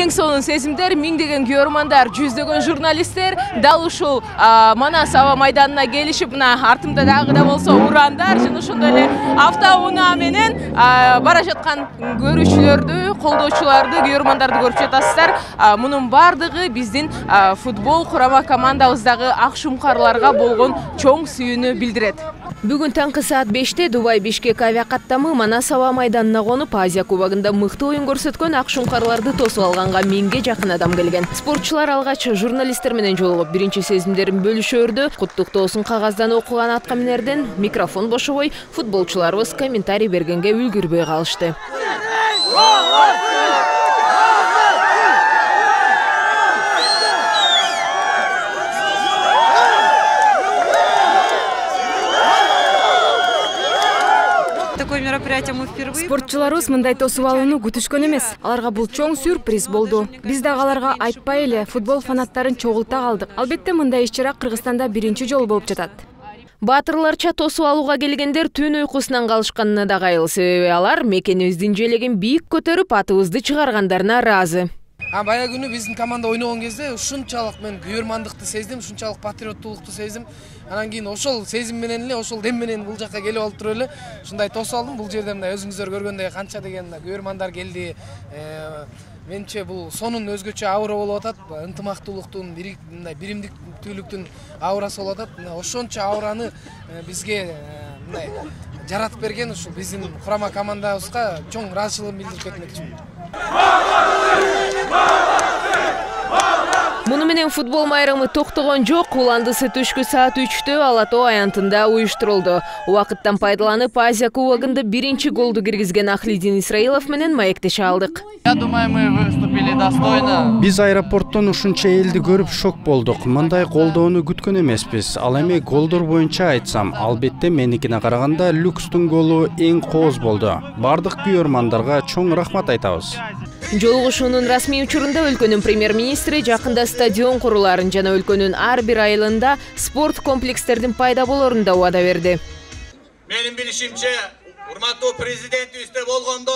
эң сонун сезимдер, миңдеген көрөрмандар, жүздөгөн журналисттер дал ушул Манас аба майданына келишип, мына артымда дагы да болсо урандар, жана ошондой эле автоунаа менен бара жаткан көрүүчүлөрдү, колдоочуларды, көрөрмандарды көрүп жатасыздар. Мунун бардыгы биздин футбол курама командабыздагы ак шумкарларга болгон чоң сүйүүнү билдирет. Бүгүн таңкы саат 5-те Дубай Бишкек авиакаттамы Манас аба майданына конуп, Азия кубогунда мыкты оюн көрсөткөн ак шумкарларды тосуп алганга 1000ге жакын адам келген. Спортчулар алгач журналисттер менен жолугуп, биринчи сезимдерин бөлүшөөрдү. Куттуктоосун кагаздан окуган аткаминерден микрофон бошобой, футболчуларыбыз комментарий бергенге үлгүрбөй калышты. Спортчуларыбыз мындай тосуп алууну күтүшкөн эмес. Аларга бул чоң сюрприз болду. Биз дагы аларга айтпай эле футбол фанаттарын чогулта калдык. Албетте мындай иш-чара Кыргызстанда биринчи жолу болуп жатат. Баатырларча тосуп алууга келгендер түн уйкусунан калышканына да кайыл, себеби алар мекенибиздин желегин бийик көтөрүп, атыбызды чыгаргандарына ыраазы. Бая күнү биздин команда ойногон кезде ушунчалык мен күйөрмандыкты сездим, ушунчалык патриоттуулукту сездим. Анан кийин ошол сезим менен эле, ошол дем менен бул жакка келип алып туруп эле ушундай тосуп алдым. Бул жерде мындай өзүңүздөр көргөндөй канча деген күйөрмандар келди. Менче бул сонун өзгөчө аура болуп атат. Ынтымактуулуктун, мындай биримдиктүүлүктүн аурасы болуп атат. Ошончо аураны бизге мындай жаратып берген ушул биздин курама командабызга чоң ыраазычылыгымды билдирип кетмекчимин. Муну менен футбол майрамы токтогон жок. Уландысы түшкү саат 3-тө Ала Тоо аянтында уюштурулду. Убакыттан пайдаланып, Азия кубогунда биринчи голду киргизген Ахлидин Исраилов менен маектеше алдык. Я думаю, мы выступили достойно. Биз аэропорттон ушунча элди көрүп шок болдук. Мындай колдоону күткөн эмеспиз. Ал эми голдор боюнча айтсам, албетте меникине караганда Люкстун голу эң кооз болду. Бардык күйөрмандарга чоң рахмат айтабыз. Жолугушуунун расмий учурунда өлкөнүн премьер-министри жакында стадион куруларын жана өлкөнүн ар бир айылында спорт комплекстердин пайда болорун да убада берди. Менин билишимче, урматтуу президентибизде болгондо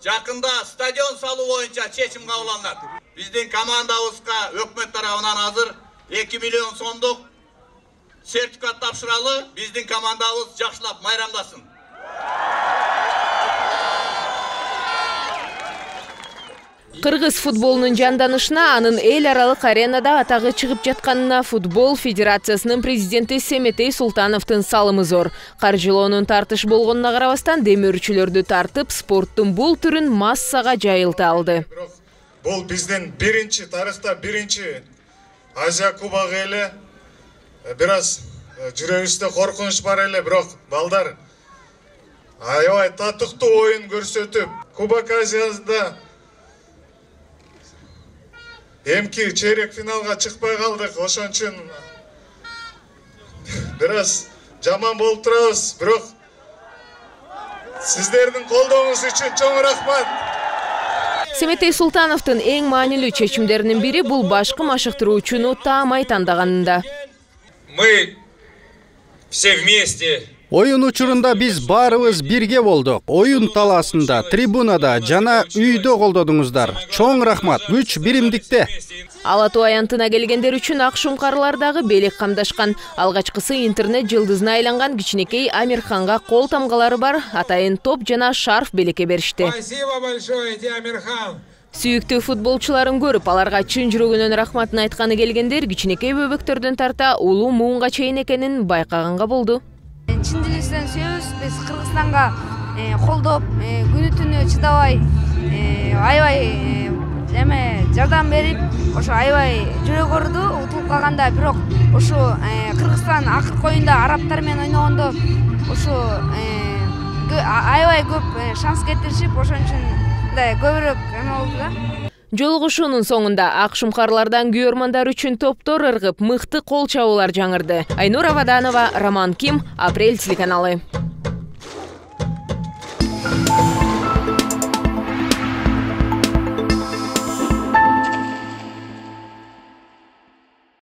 жакында стадион салуу боюнча чечим кабыл алынат. Биздин командабызга өкмөт тарабынан азыр 2 миллион сомдук сертификат тапшыралы, биздин командабыз жакшылап майрамдасын. Кыргыз футболунун жанданышына, анын эл аралык аренада атагы чыгып жатканына футбол федерациясынын президенти Семетей Султановдун салымы зор. Каржылоонун тартыш болгонуна карабастан, демөөрчүлөрдү тартып, спорттун бул түрүн массага жайылта алды. Бул биздин биринчи тарыхта биринчи Азия кубогу эле. Бир аз жүрөгүбүздө коркунуч бар эле, бирок балдар аябай татыктуу оюн көрсөтүп, Кубок Азияда эмки чейрек финалга чыкпай калдык. Ошон үчүн бир аз жаман болуп турабыз, бирок сиздердин колдооңуз үчүн чоң рахмат. Семетей Султановдун эң маанилүү чечимдеринин бири бул башкы машыктыруучуну таамай тандаганында. Мы все вместе. Оюн учурунда биз баарыбыз бирге болдук. Оюн талаасында, трибунада жана үйдө колдодуңуздар. Чоң рахмат, күч биримдикте. Ала Тоо аянтына келгендер үчүн ак шумкарлар дагы белек камдашкан. Алгачкысы интернет жылдызына айланган кичинекей Амирханга кол тамгалары бар атайын топ жана шарф белекке беришти. Спасибо большое, Амирхан. Сүйүктүү футболчуларын көрүп, аларга чын жүрөгүнөн рахматын айтканы келгендер кичинекей бөбөктөрдөн тарта улуу муунга чейин экенин байкаганга болду. Чын жүрөктөн сүйөбүз. Биз Кыргызстанга колдоп, күнү түнү чыдабай, аябай жардам берип, ошо аябай жүрөк ооруду утулуп калганда, бирок ошо Кыргызстан акыркы оюнда арабтар менен ойногондо ошо аябай көп шанс кетиришип, ошон үчүн мындай көбүрөөк болду да. Жолугушуунун соңунда ак шумкарлардан күйөрмандар үчүн топтор ыргып, мыкты кол чабуулар жаңырды. Айнура Ваданова, Роман Ким, Апрель телеканалы.